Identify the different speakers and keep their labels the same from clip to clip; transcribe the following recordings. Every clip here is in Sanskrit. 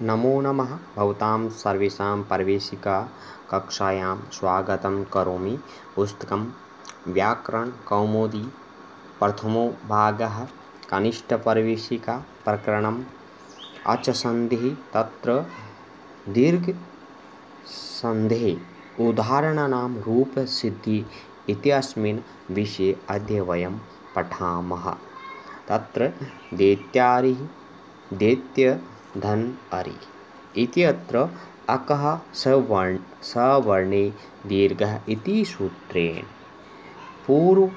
Speaker 1: नमो नमः। भवतां सर्वेषां प्रवेशिका कक्षायां स्वागतं करोमि। पुस्तकं व्याकरणकौमुदी प्रथमो भागः कनिष्ठप्रवेशिका प्रकरणम् अचसन्धिः तत्र दीर्घसन्धेः उदाहरणानां रूपसिद्धिः इत्यस्मिन् विषये अद्य वयं पठामः। तत्र दैत्यारिः दैत्यधनअरि इत्यत्र अकः सवर्णे दीर्घः इति सूत्रेण पूर्वपरयोः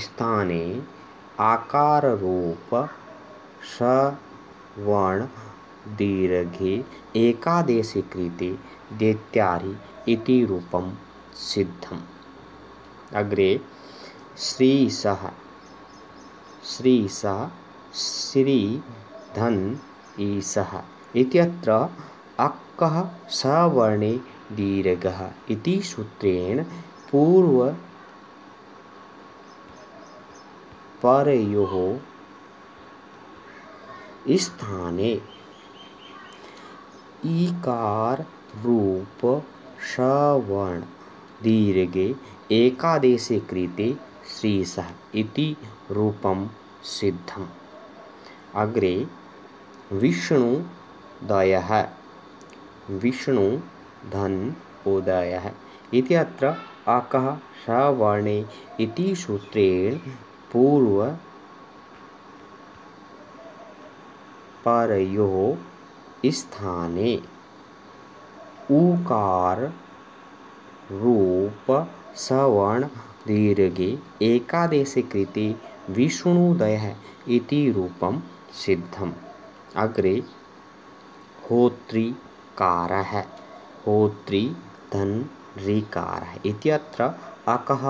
Speaker 1: स्थाने आकाररूप सवर्णदीर्घे एकादेशे कृते दैत्यारि इति रूपं सिद्धम्। अग्रे श्रीशः श्रीधनईशः इत्यत्र अकः सवर्णे दीर्घः इति सूत्रेण पूर्वपरयोः स्थाने ईकाररूप सवर्ण दीर्घे एकादेशे कृते श्रीशः इति रूपं सिद्धम्। अग्रे विष्णुदयः विष्णुधनोदयः इत्यत्र अकः सवर्णे इति सूत्रेण पूर्वपरयोः स्थाने उकाररूप सवर्ण दीर्घे एकादेशे कृते विष्णुदयः इति रूपं सिद्धम्। अग्रे होत्रिकारः होत्रिधनऋकारः इत्यत्र अकः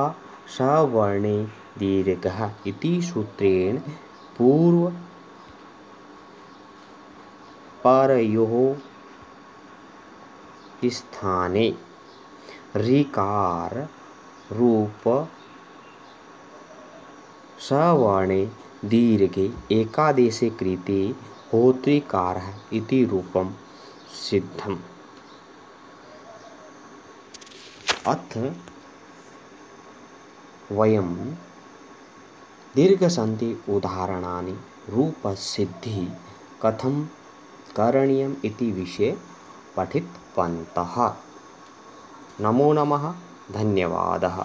Speaker 1: सवर्णे दीर्घः इति सूत्रेण पूर्वपरयोः स्थाने ऋकाररूप सवर्णे दीर्घे एकादेशे कृते होत्रिकारः इति रूपं सिद्धम्। अथ वयं दीर्घसन्धि उदाहरणानि रूपसिद्धिः कथं करणीयम् इति विषये पठितवन्तः। नमो नमः। धन्यवादः।